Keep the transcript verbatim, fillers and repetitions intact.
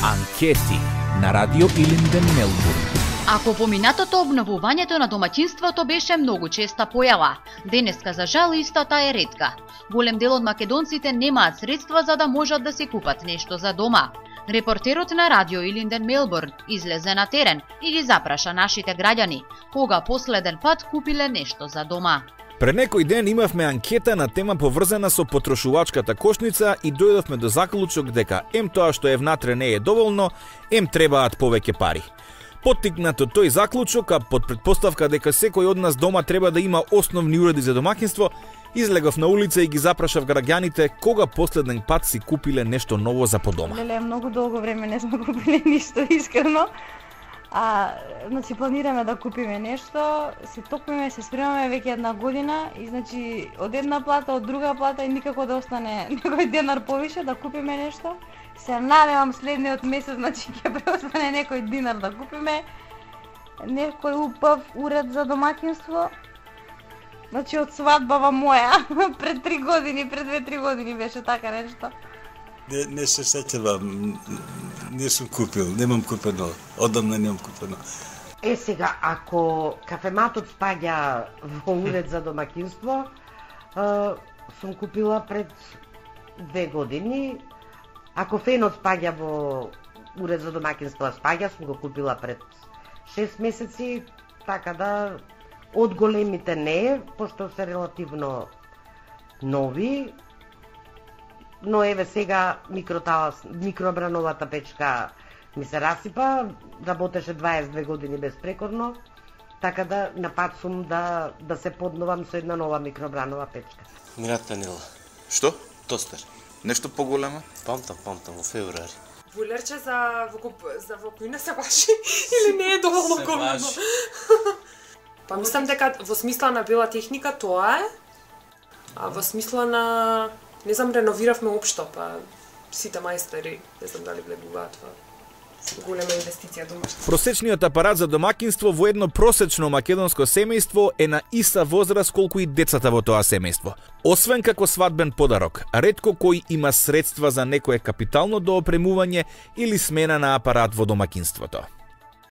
Анкети на Радио Илинден, Мелбурн. Ако поминатото обновувањето на домаќинството беше многу честа појава, денеска за жал истата е ретка. Голем дел од македонците немаат средства за да можат да си купат нешто за дома. Репортерот на Радио Илинден, Мелбурн излезе на терен и ги запраша нашите граѓани кога последен пат купиле нешто за дома. Пред некој ден имавме анкета на тема поврзана со потрошувачката кошница и дојдовме до заклучок дека ем тоа што е внатре не е доволно, ем требаат повеќе пари. Поттикнат од тој заклучок, а под предпоставка дека секој од нас дома треба да има основни уреди за домаќинство, излегов на улица и ги запрашав граѓаните кога последен пат си купиле нешто ново за по дома. Леле, многу долго време не сме купиле ништо, искрено. А, значи планираме да купиме нешто, се токмиме, се спремаме веќе една година и значи од една плата, од друга плата и никако да остане некој денар повише да купиме нешто. Се надевам следниот месец, значи ќе преостане некој динар да купиме некој убав уред за домаќинство. Значи од свадбава моја пред три години, пред две-три години беше така нешто. Не, не се сеќавам, не сум купил, немам купено, одамна немам купено. Е сега, ако кафематот спаѓа во уред за домаќинство, сум купила пред две години. Ако фенот спаѓа во уред за домаќинство, спаѓа, сум го купила пред шест месеци, така да од големите не, пошто се релативно нови. Но еве сега микроталас, микробрановата печка ми се расипа, работеше дваесет и две години безпрекорно, така да на пат сум да, да се подновам со една нова микробранова печка. Мирата Нила. Што? Тостер. Нешто поголемо? Памтам, памтам, во февруари. Булерче за во за во кој не се баши или не е доволно големо? Па мислам дека во смисла на бела техника тоа е, а во смисла на не знам, реновиравме општо, па сите мајстори, не знам дали влегуваат во голема инвестиција домашна. Просечниот апарат за домаќинство во едно просечно македонско семејство е на иста возраст колку и децата во тоа семејство. Освен како свадбен подарок, ретко кој има средства за некое капитално доопремување или смена на апарат во домаќинството.